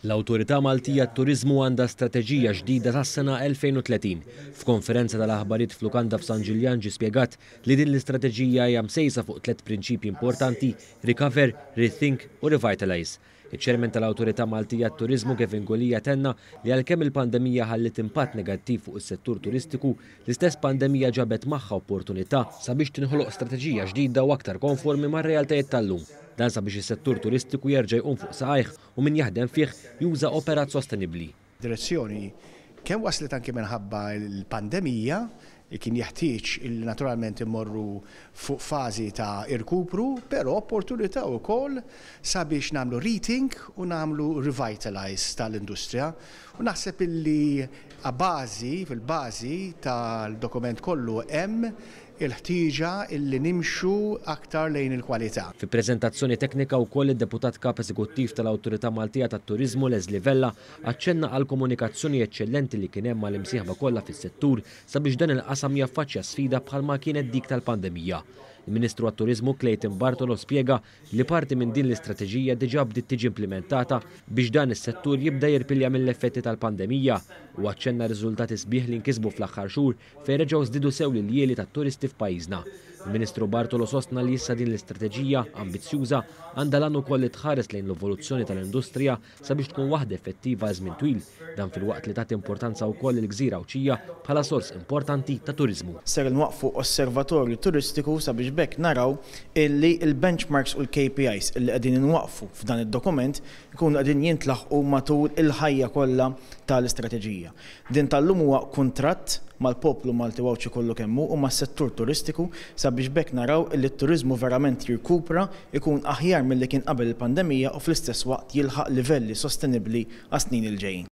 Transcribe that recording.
L-Awtorità Maltija għat-Turiżmu għandha strateġija ġdida sas-sena 2030. F'konferenza tal-aħbarijiet f'lukanda f'San Ġiljan ġie spjegat li din l-istrateġija hija msejsa fuq tlett prinċipji importanti, Recover, Rethink u Revitalize. Iċ-Chairman tal-Awtorità Maltija għat-Turiżmu Kevin Gulia tenna li għalkemm il-pandemija ħalliet impatt negattiv fuq is-settur turistiku, l-istess pandemija ġabet magħha opportunità sabiex tinħoloq strateġija ġdida u aktar konformi mar-realtajiet tal-lum. Dan sabiex is-settur turistiku jerġa' jqum fuq saqajh u min jaħdem fih juża operat sostenibbli. Direzzjoni kemm waslet anki minħabba l-pandemija, li kien jeħtieġ illi naturalment immorru fuq fażi ta' irkupru, però opportunità wkoll sabiex nagħmlu rethink u nagħmlu revitalize tal-industrija. U naħseb illi a bażi, fil-bażi tal-dokument kollu hemm il-ħtieġa illi nimxu aktar lejn il-kwalità. Fi preżentazzjoni teknika wkoll id-Deputat Kap Eżekuttiv tal-Awtorità Maltija tat-Turiżmu Leslie Vella aċċenna għall-komunikazzjoni eċċellenti li kien hemm mal-imsieħba kollha fis-settur sabiex dan il-qasam jaffaċċja sfida bħalma kienet dik tal-pandemija. Il-Ministru għat-Turiżmu Clayton Bartolo spjega li parti minn din l-istrateġija diġà bdiet tiġi implimentata biex dan is-settur jibda jirpilja mill-effetti tal-pandemija u aċċenna r-riżultati sbieħ li nkisbu fl-aħħar xhur fejn reġgħu żdiedu sew l-iljieli tat-turisti f'pajjiżna. Il-Ministru Bartolo sostna li issa din l-istrateġija ambizzjuża għandha l-għan ukoll li tħares lejn l-evoluzzjoni tal-industrija sabiex tkun waħda effettiva għal żmien twil, dan filwaqt li tagħti importanza wkoll lill-gżira Għawdxija bħala sors importanti ta' turiżmu. Ser inwaqqfu osservatorju turistiku sabiex b'hekk naraw illi l-benchmarks u l-KPIs illi qegħdin inwaqqfu f'dan id-dokument ikunu qegħdin jintlaħqu matul il-ħajja kollha tal-istrateġija. Din tal-lum huwa kuntratt mal-poplu Malti u Għawdxi kollu kemm hu u mas-settur turistiku sabiex b'hekk naraw illi t-turiżmu verament jirkupra, ikun aħjar milli kien qabel il-pandemija u fl-istess waqt jilħaq livelli sostenibbli għas-snin il-ġejjin.